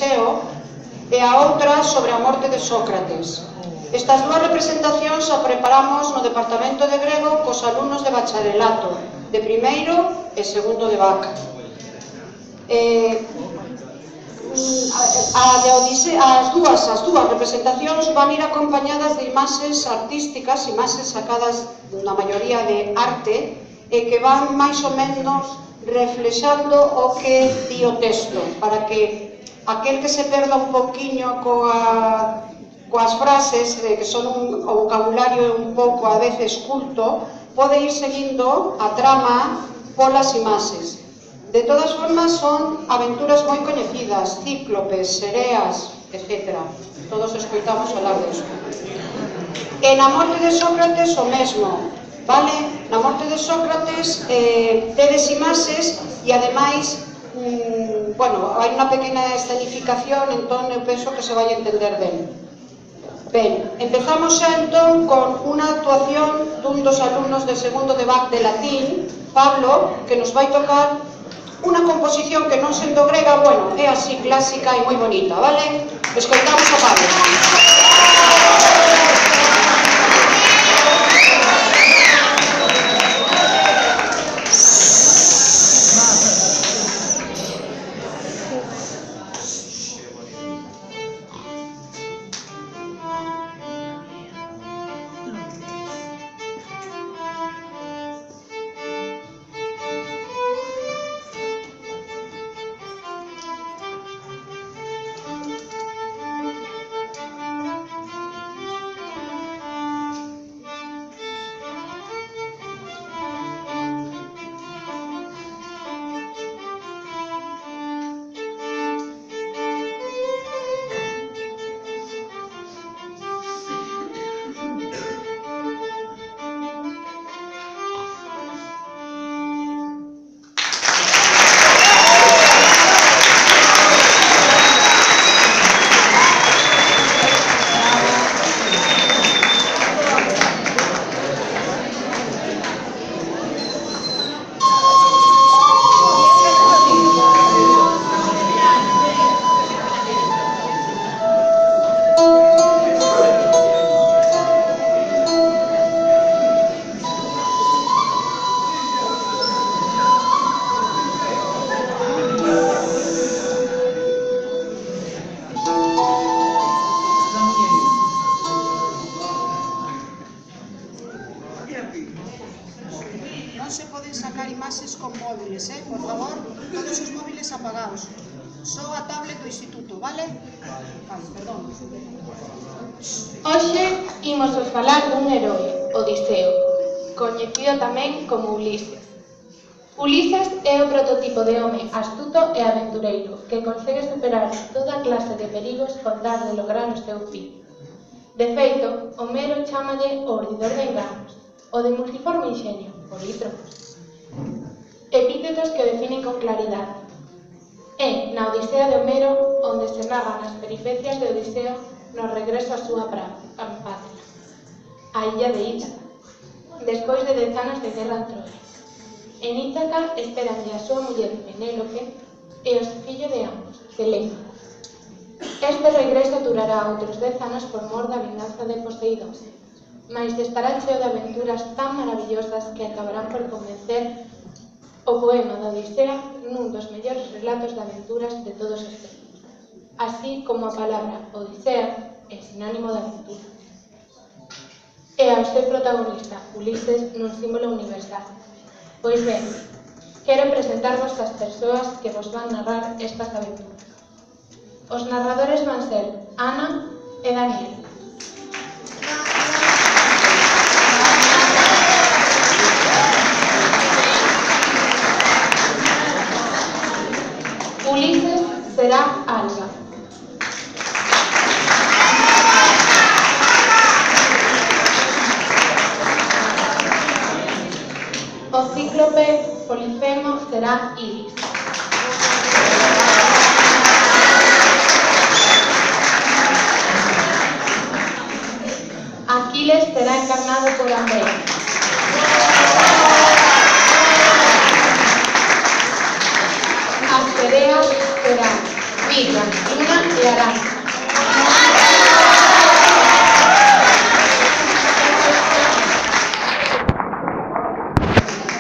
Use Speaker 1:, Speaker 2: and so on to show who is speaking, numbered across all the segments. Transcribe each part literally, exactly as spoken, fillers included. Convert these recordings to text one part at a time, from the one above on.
Speaker 1: Odiseo e a outra sobre a morte de Sócrates. Estas dúas representacións a preparamos no Departamento de Grego cos alumnos de bacharelato, de primeiro e segundo de B A C. Eh, a de Odiseo, as dúas, as dúas representacións van ir acompañadas de imaxes artísticas, imaxes sacadas na maioría de arte, e que van máis ou menos reflexando o que di o texto, para que aquel que se perda un poquinho coa, coas frases, eh, que son un, o vocabulario un pouco a veces culto, pode ir seguindo a trama polas imaxes. De todas formas, son aventuras moi coñecidas, cíclopes, sereas, etcétera. Todos escoitamos falar disso. E na morte de Sócrates o mesmo, vale? Na morte de Sócrates eh, tedes imaxes e ademais, mm, bueno, hai unha pequena escenificación, entón eu penso que se vai entender ben. Ben, empezamos xa entón con unha actuación dun dos alumnos de segundo de B A C de latín, Pablo, que nos vai tocar unha composición que non sendo grega, bueno, é así clásica e moi bonita, vale? Escoitamos a Pablo. Non se poden sacar imaxes con móviles, eh? Por favor, todos os móviles apagados. Só a tablet do instituto, vale? Vale, perdón.
Speaker 2: Hoxe imos vos falar dun heroe, Odiseo, coñecido tamén como Ulises. Ulises é o prototipo de home astuto e aventureiro que consegue superar toda clase de perigos con tal de lograr o seu fin. De feito, Homero chámalle o urdidor de enganos, o de multiforme inxenio, polítrofos. Epítetos que o definen con claridade. É na Odisea de Homero onde se narran as peripecias de Odiseo no regreso á súa patria, a illa de Ítaca, despois de dez anos de guerra en Troia. En Ítaca esperanlle a súa muller Penélope e o fillo de ambos, Telémaco. Este regreso durará outros dez anos por mor da vinganza de Poseidón, mais estará cheo de aventuras tan maravillosas que acabarán por convencer o poema da Odisea nun dos mellores relatos de aventuras de todos os tempos, así como a palabra Odisea é sinónimo de aventura. E ao seu protagonista, Ulises, nun símbolo universal. Pois ben, quero presentarvos as persoas que vos van narrar estas aventuras. Os narradores van ser Ana e Daniel. Ulises será Alba. O cíclope Polifemo será Iris. Aquiles será encarnado por Andrea. As sereas serán Vivian. Luna e Aranza.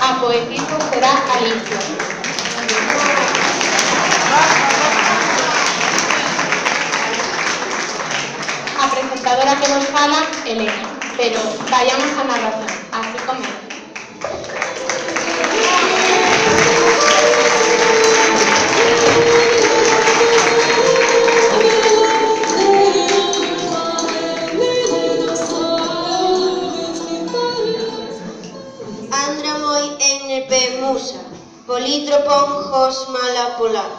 Speaker 2: A poetisa será Alicia. A presentadora que nos fala, Elena. Pero vayamos a narración. Así comienza.
Speaker 3: Andra moi N P Musa, polítropon hos mala polar.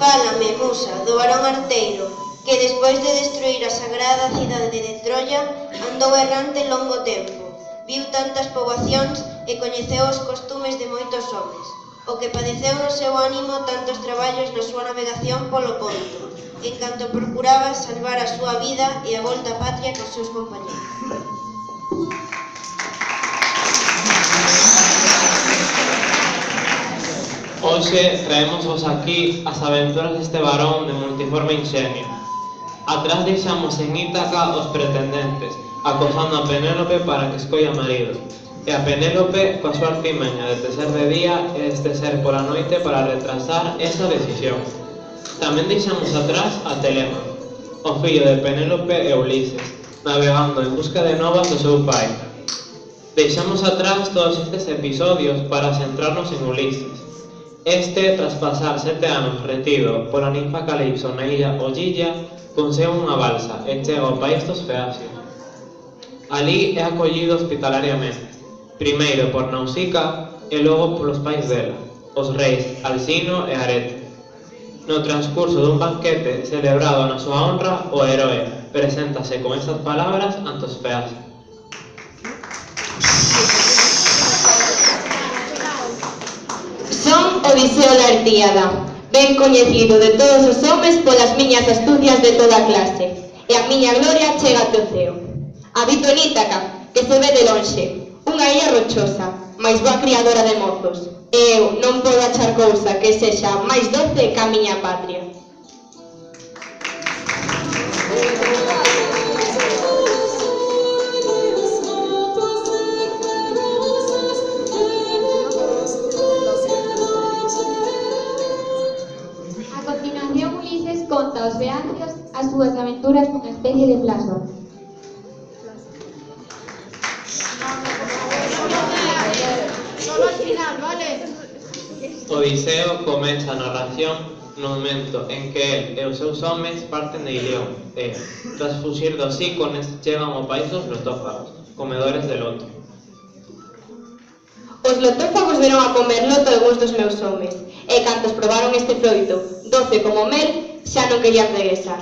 Speaker 3: Fálame, Musa, do varón arteiro, que despois de destruir a sagrada cidade de Troia, andou errante longo tempo, viu tantas poboacións e coñeceu os costumes de moitos homes, o que padeceu no seu ánimo tantos traballos na súa navegación polo Ponto, en canto procuraba salvar a súa vida e a volta á patria cos seus compañeros.
Speaker 4: Hoxe traémosvos aquí as aventuras deste varón de multiforme inxenio. Atrás deixamos en Ítaca os pretendentes, acosando a Penélope para que escolla marido, e a Penélope coa súa artimaña de tecer de día e de tecer pola noite para retrasar esa decisión. Tamén deixamos atrás a Telémaco, o fillo de Penélope e Ulises, navegando en busca de novas do seu pai. Deixamos atrás todos estes episodios para centrarnos en Ulises. Este, tras pasar sete anos retido pola ninfa Calipso na illa Ollilla, consegue unha balsa e chega ao país dos Feacios. Alí é acollido hospitalariamente, primeiro por Nausica e logo polos pais dela, os reis Alcino e Arete. No transcurso dun banquete celebrado na súa honra, o heroe preséntase con estas palabras ante os Feacios.
Speaker 5: Son Odiseo Lartíada, ben coñecido de todos os homes polas miñas astucias de toda clase, e a miña gloria chega até o ceo. Habito en Ítaca, que se ve de lonxe, unha illa rochosa, máis boa criadora de mozos, e eu non podo achar cousa que sexa máis doce que a miña patria.
Speaker 6: Conta aos Feacios as súas aventuras nunha especie de plazo.
Speaker 7: Solo al final, vale?
Speaker 4: Odiseo comeza a narración no momento en que el e os seus homes parten de Ilión e, tras fuxir dos ícones, chegan ao país dos lotófagos, comedores de loto.
Speaker 5: Os lotófagos veron a comer loto algúns dos meus homes, e cantos probaron este froito, doce como mel, xa non querían regresar.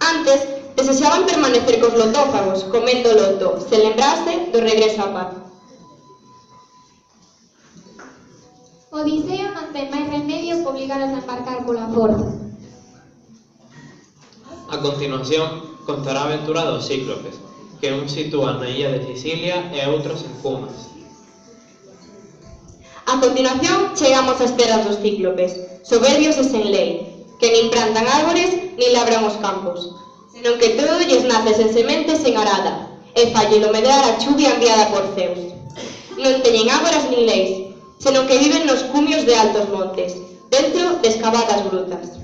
Speaker 5: Antes, desexaban permanecer cos lotófagos, comendo loto, sen lembrarse do regreso á paz.
Speaker 6: Odiseo non ten máis remedio que obligaros a embarcar pola forza.
Speaker 4: A continuación, contará a aventura dos cíclopes, que un sitúan na illa de Sicilia e outros en Cumas.
Speaker 5: A continuación, chegamos ás terras dos cíclopes, soberbios e sen lei, que nin plantan árbores, nin labran os campos, senón que todo lles nace sen semente sen arada, e fallelo medrar a chuvia enviada por Zeus. Non teñen ágoras nin leis, senón que viven nos cumios de altos montes, dentro de escavadas grutas.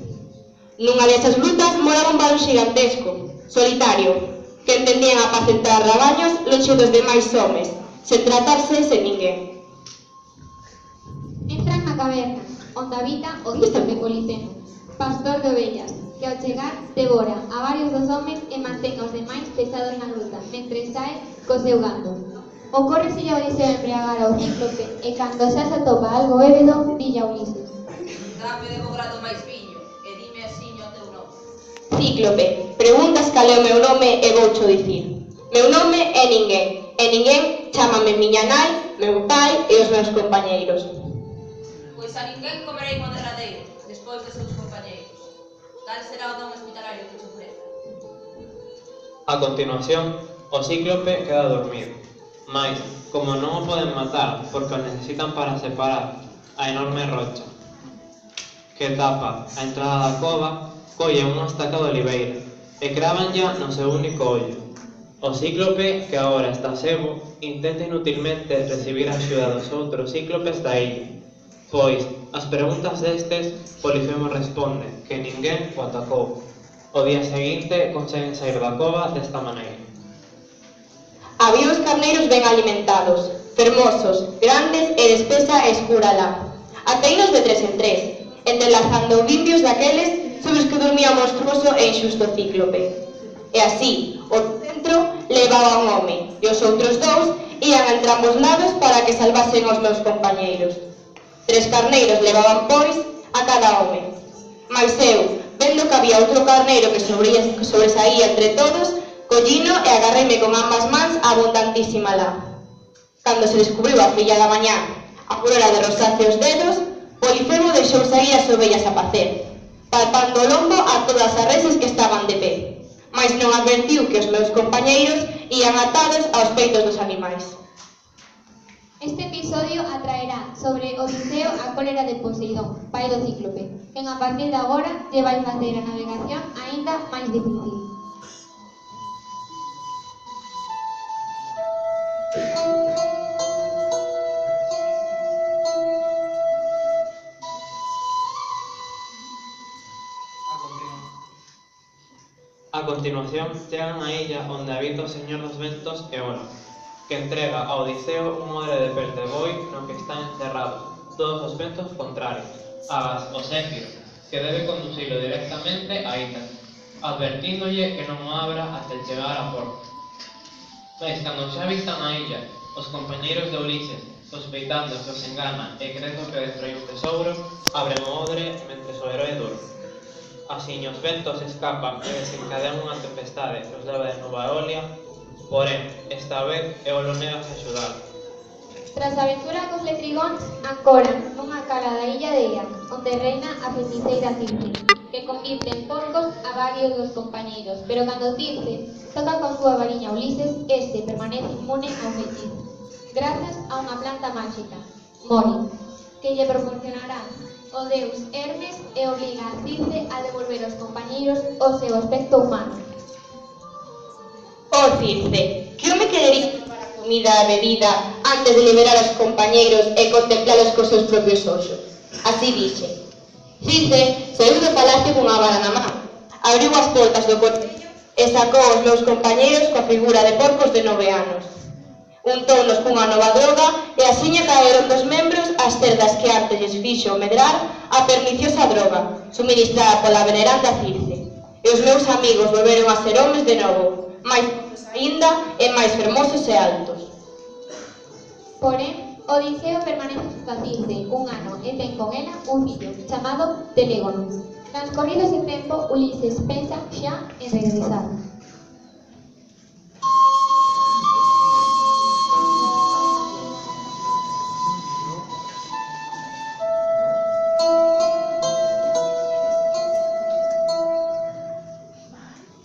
Speaker 5: Nunha desas grutas moraba un varón xigantesco, solitario, que entendían apacentar rabaños lonxe dos demais homes, sen tratarse sen ninguén.
Speaker 6: Entran na caverna, onde habita o cíclope Policemo, pastor de ovellas, que ao chegar devora a varios dos homes e mantén aos demais pechados na gruta, mentre sae co seu gando. Ocórreselle a Odiseo embriagar ao cíclope e cando xa se atopa algo ébedo, dille a Ulises:
Speaker 7: Dame de grado máis viño e dime asiño o teu nome.
Speaker 5: Cíclope, preguntas cal é o meu nome e voucho dicir. Meu nome é ninguén, e ninguén chámame miña nai, meu pai e os meus compañeiros.
Speaker 7: Pois a ninguén comerei mo derradeiro, despois de seus compañeiros. Tal será o don hospitalario que te ofreza.
Speaker 4: A continuación, o cíclope queda dormido, mais, como non o poden matar porque o necesitan para separar a enorme rocha que tapa a entrada da cova, colle unha estaca de oliveira e crávanlla no seu único ollo. O cíclope, que agora está cego, intenta inutilmente recibir a axuda dos outros cíclopes da illa, pois, as preguntas destes, Polifemo responde que ninguén o atacou. O día seguinte conseguen sair da cova desta maneira.
Speaker 5: Había os carneiros ben alimentados, fermosos, grandes e despesa escura lá. Ateinos de tres en tres, entrelazando bimbios daqueles sobre os que dormía o monstruoso e inxusto cíclope. E así, o centro levaba un home e os outros dous ían a entrambos lados para que salvasen aos meus compañeiros. Tres carneiros levaban, pois, a cada home. Mais eu, vendo que había outro carneiro que sobresaía entre todos, collino e agarreime con ambas mans a abundantísima lá. Cando se descubriu a filla da mañá, a aurora de rosace os dedos, Polifemo deixou sair as ovellas a pacer, palpando o lombo a todas as reses que estaban de pé, mais non advertiu que os meus compañeiros ían atados aos peitos dos animais.
Speaker 6: Este episodio atraerá sobre Odiseo a cólera de Poseidón, pai do cíclope, quen a partir de agora lle vai facer a navegación aínda máis difícil.
Speaker 4: A continuación, chegan á illa onde habita o Señor dos Ventos Eolo, que entrega a Odiseo un odre de pel de boi no que están encerrados todos os ventos contrarios, agás o Céfiro, que debe conducilo directamente a Ítaca, advertíndolle que non o abra até chegar a porto. Mais cando xa vistan a illa, os compañeiros de Ulises, sospeitando que os engana e crendo que destroi un tesouro, abren o odre mentres o heroe durme. Así os ventos escapan e desencadean unha tempestade que os leva de novo a Eolia, porén, esta vez Eolo nega a axudar.
Speaker 6: Tras a aventura cos letrigóns, ancoran nunha cala da illa de Ea, onde reina a feiticeira Circe, que convirte en porcos a varios dos compañeiros, pero cando Circe toca con súa variña a Ulises, este permanece inmune ao feitizo, grazas a unha planta máxica, Mori, que lle proporcionará o deus Hermes e obriga a Circe a devolver aos compañeiros o seu aspecto humano.
Speaker 5: Oh Circe, que home querería preparar comida e bebida antes de liberar aos compañeiros e contemplalos cos seus propios ollos. Así dixe. Circe saiu do palacio cunha vara na man, abriu as portas do cortello e sacou os meus compañeiros coa figura de porcos de nove anos. Untounos cunha nova droga e asiña caeron dos membros as cerdas que antes lles fixo medrar a perniciosa droga, suministrada pola veneranda Circe. E os meus amigos volveron a ser homes de novo, máis fortes aínda e máis fermosos e altos.
Speaker 6: Porén, Odiseo permanece junto a Circe un ano e ten con ela un fillo chamado Telégono. Transcorrido ese tempo, Ulises pensa xa en regresar.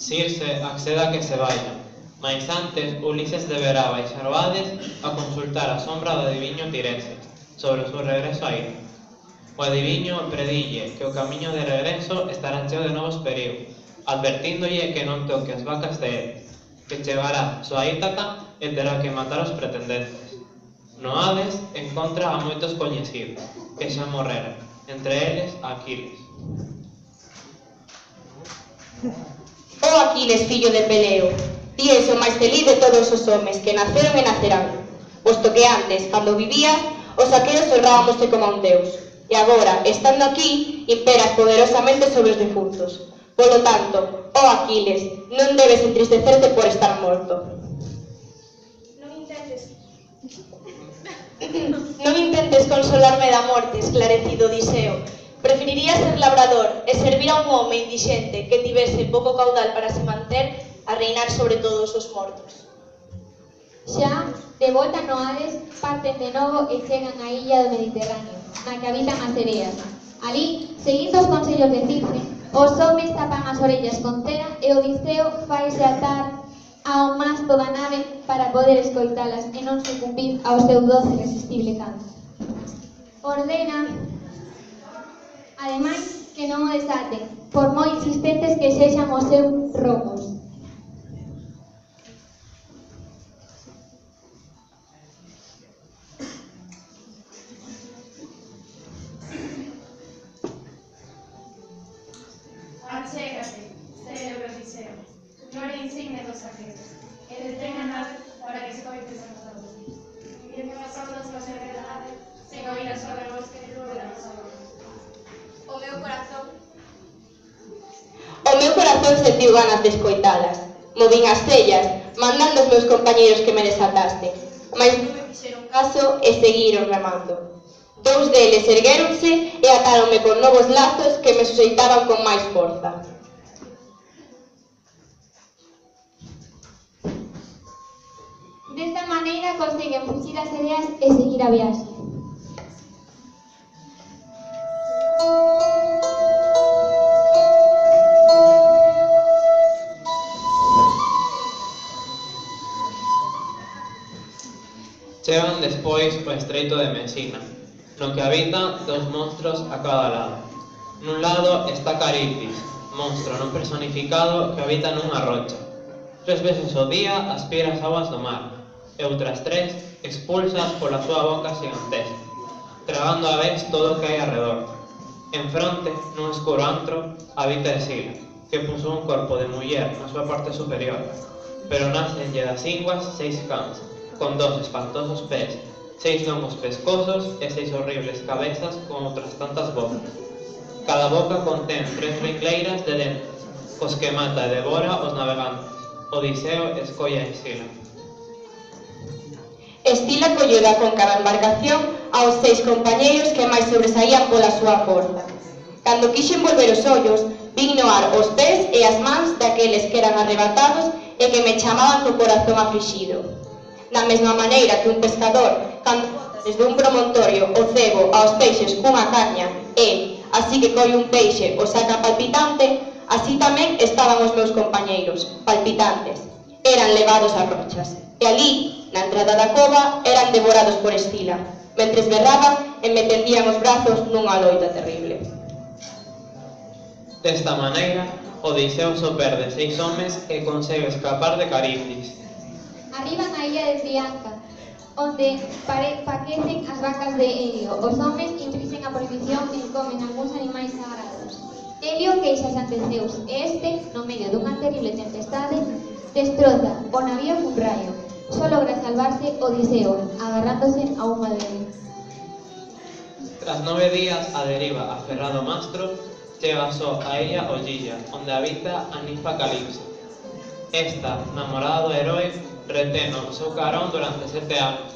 Speaker 4: Circe accede a que se vaya, mais antes Ulises deberá baixar o Hades a consultar a sombra do adiviño Tiresias sobre o seu regreso a Ida. O adiviño predille que o camiño de regreso estará cheo de novos perigos, advertíndolle que non toque as vacas de él, que chegará só a Ítaca e terá que matar os pretendentes. No Hades encontra a moitos coñecidos, que xa morreran, entre eles Aquiles.
Speaker 5: Oh Aquiles, fillo de Peleo, ti és o máis feliz de todos os homes que naceron e nacerán, posto que antes, cando vivías, os aqueos honrábamoste como a un deus, e agora, estando aquí, imperas poderosamente sobre os defuntos. Polo tanto, oh Aquiles, non debes entristecerte por estar morto.
Speaker 8: Non intentes...
Speaker 9: Non intentes consolarme da morte, esclarecido Odiseo. Preferiría ser labrador e servir a un home indixente que tivese pouco caudal para se manter a reinar sobre todos os mortos.
Speaker 6: Xa, de volta no Hades, parten de novo e chegan á illa do Mediterráneo, na que habitan as sereas. Alí, seguindo os consellos de Circe, os homes tapan as orellas con cera e Odiseo faise atar ao masto da nave para poder escoitalas e non sucumbir ao seu doce e irresistible canto. Ordena, ademais, que non o desaten, por moi insistentes que sexan os seus romos.
Speaker 10: Achégate, cérebro Odiseo, glória insigne dos aqueles, e detén a nave para que escoites a nosa voz. E que as ondas nos enredade, sen oír a súa voz que lúe da nosa voz.
Speaker 7: O meu corazón
Speaker 5: O meu corazón sentiu ganas de escoitalas. Movín as cellas, mandando aos meus compañeiros que me desataste, mas non me fixeron caso e seguiron remando. Dous deles erguéronse e atáronme con novos lazos que me suxeitaban con máis forza.
Speaker 6: Desta maneira conseguen fuxir as ideas e seguir a viaxe.
Speaker 4: Chegan despois o estreito de Mesina, no que habitan dos monstros a cada lado. Nun lado está Caribdis, monstro non personificado que habita nunha rocha. Tres veces ao día aspira as aguas do mar, e outras tres expulsas pola súa boca gigantesca, tragando a vez todo o que hai arredor. En fronte, nun escuro antro, habita Escila, que puso un corpo de muller na súa parte superior, pero nacenlle das inguas seis cans, con dos espantosos pés, seis longos pescosos e seis horribles cabezas con outras tantas bocas. Cada boca contén tres ringleiras de dentes, cos que mata e devora os navegantes. Odiseo escolla a Escila.
Speaker 5: Escila colleda con cada embarcación aos seis compañeiros que máis sobresaían pola súa forza. Cando quixen volver os ollos, vin no ar os pés e as mans daqueles que eran arrebatados e que me chamaban co corazón aflixido. Da mesma maneira que un pescador, cando bota desde un promontorio o cebo aos peixes cunha caña e, así que colle un peixe, o saca palpitante, así tamén estaban os meus compañeiros, palpitantes. Eran levados a rochas, e ali, na entrada da cova, eran devorados por Escila, mentres berraban e me tendían os brazos nunha loita terrible.
Speaker 4: Desta maneira, Odiseo só perde seis homes e consegue escapar de Caribdis.
Speaker 6: Arriban a illa de Trianca, onde paquecen as vacas de Helio. Os homes infrixen a prohibición e comen algúns animais sagrados. Helio queixas ante Zeus e este, no medio dunha terrible tempestade, destroza o navío cun raio. Só logra salvarse Odiseo, agarrándose a un madero.
Speaker 4: Tras nove días a deriva aferrado ao mastro, chega só a illa Ollilla, onde habita a ninfa Calipso. Esta, namorada do heroe, retén o seu carón durante sete anos.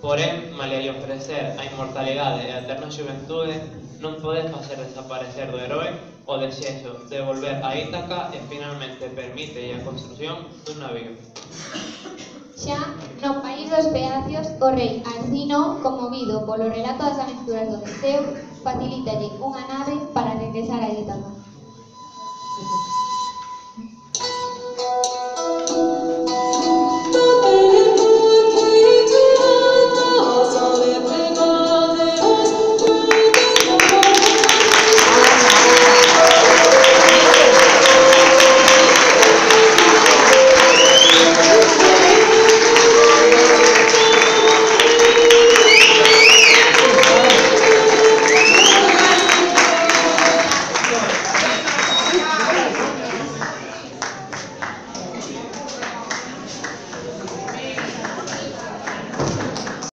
Speaker 4: Porén, malia lle ofrecer a inmortalidade e a eterna xuventude, non pode facer desaparecer do heroe o desexo de volver a Ítaca e finalmente permite a construción dun navío.
Speaker 6: Xa no país dos Peacios, o rei Alcino, conmovido polo relato das aventuras do Odiseo, facilítalle unha nave para regresar a Ítaca.